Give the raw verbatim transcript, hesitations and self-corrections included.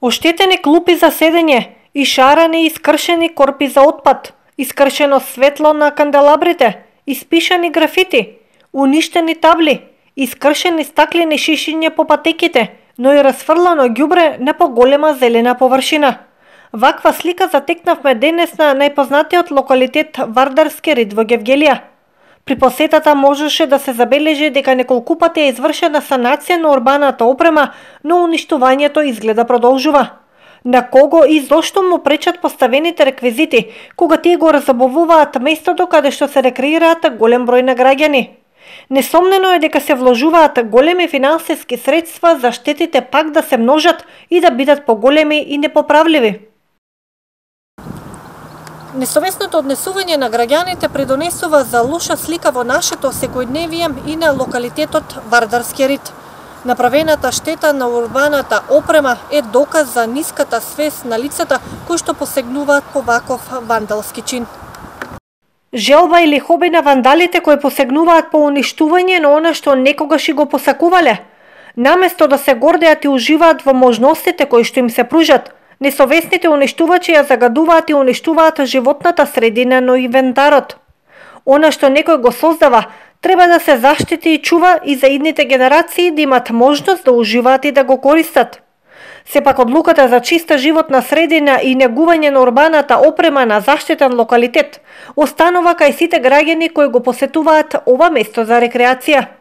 Оштетени клупи за седење, ишарани и искршени корпи за отпад, искршено светло на канделабрите, испишани графити, уништени табли, искршени стаклени шишиња по патеките, но и расфрлано ѓубре на поголема зелена површина. Ваква слика затекнавме денес на најпознатиот локалитет Вардарски рид во Гевгелија. При посетата можеше да се забележи дека неколку пати е извршена санација на урбаната опрема, но уништувањето изгледа продолжува. На кого и зошто му пречат поставените реквизити, кога тие го разабавуваат местото каде што се рекреираат голем број на граѓани? Несомнено е дека се вложуваат големи финансиски средства за штетите пак да се множат и да бидат поголеми и непоправливи. Несовесното однесување на граѓаните придонесува за лоша слика во нашето секојдневие и на локалитетот Вардарски рид. Направената штета на урбаната опрема е доказ за ниската свест на лицата кои што посегнуваат по ваков вандалски чин. Желба или хоби на вандалите кои посегнуваат по уништување на она што некогаш и го посакувале, наместо да се гордеат и уживаат во можностите кои што им се пружат, несовесните уништувачи ја загадуваат и уништуваат животната средина на инвентарот. Она што некој го создава, треба да се заштити и чува и за идните генерации да имат можност да уживаат и да го користат. Сепак одлуката за чиста животна средина и негување на урбаната опрема на заштитен локалитет останува кај сите граѓани кои го посетуваат ова место за рекреација.